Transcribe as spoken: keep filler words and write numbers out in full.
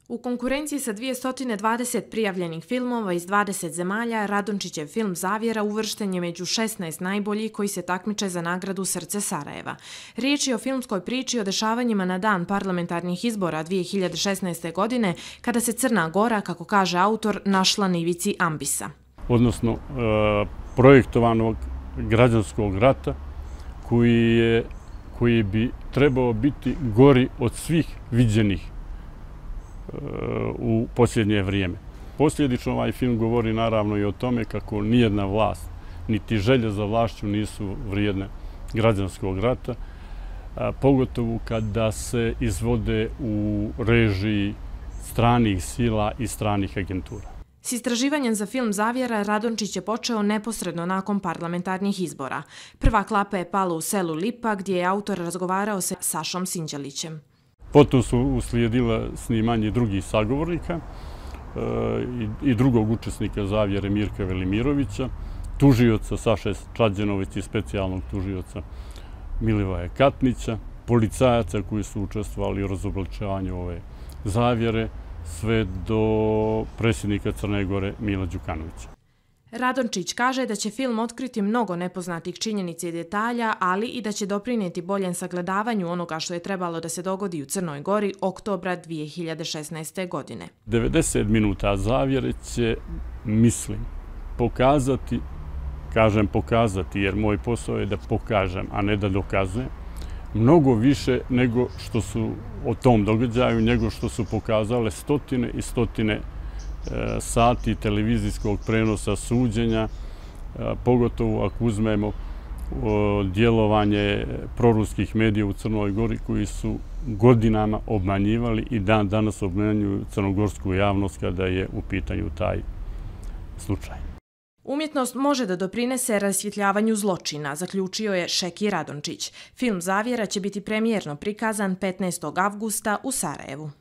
U konkurenciji sa dvjesto dvadeset prijavljenih filmova iz dvadeset zemalja, Radončićev film Zavjera uvršten je među šesnaest najboljih koji se takmiče za nagradu Srce Sarajeva. Riječ je o filmskoj priči o dešavanjima na dan parlamentarnih izbora dvije hiljade šesnaeste. godine, kada se Crna Gora, kako kaže autor, našla na ivici ambisa. Odnosno e, projektovanog građanskog rata koji, je, koji bi trebao biti gori od svih viđenih u posljednje vrijeme. Posljedično ovaj film govori naravno i o tome kako nijedna vlast, niti želje za vlašću nisu vrijedne građanskog rata, pogotovo kada se izvode u režiji stranih sila i stranih agentura. S istraživanjem za film Zavjera Radončić je počeo neposredno nakon parlamentarnih izbora. Prva klapa je pala u selu Lipa, gdje je autor razgovarao sa Sašom Sinđelićem. Potom su uslijedila snimanje drugih sagovornika i drugog učesnika Zavjere Mirka Velimirovića, tužioca Saše Čađenović i specijalnog tužioca Milivoja Katnića, policajaca koji su učestvovali u razobličavanju ove zavjere, sve do predsjednika Crne Gore Mila Đukanovića. Radončić kaže da će film otkriti mnogo nepoznatih činjenica i detalja, ali i da će doprinijeti boljem sagledavanju onoga što je trebalo da se dogodi u Crnoj Gori oktobra dvije hiljade šesnaeste. godine. devedeset minuta Zavjere će, mislim, pokazati, kažem pokazati, jer moj posao je da pokažem, a ne da dokazujem, mnogo više nego što su o tom događaju, nego što su pokazale stotine i stotine sati televizijskog prenosa suđenja, pogotovo ako uzmemo djelovanje proruskih medija u Crnoj Gori koji su godinama obmanjivali i dan danas obmanjuju crnogorsku javnost kada je u pitanju taj slučaj. Umjetnost može da doprinese rasvjetljavanju zločina, zaključio je Šeki Radončić. Film Zavjera će biti premijerno prikazan petnaestog avgusta u Sarajevu.